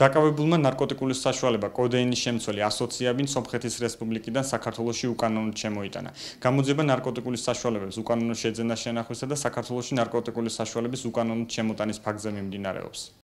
დაკავებულმა ნარკოტიკული საშუალება კოდეინის შემცველი ასოციაბინ სომხეთის რესპუბლიკიდან საქართველოში უკანონოდ შემოიტანა. გამოძიება ნარკოტიკული საშუალებების უკანონო შეძენა შენახვისა და საქართველოში ნარკოტიკული საშუალების უკანონოდ შემოტანის ფაქტზე მიმდინარეობს.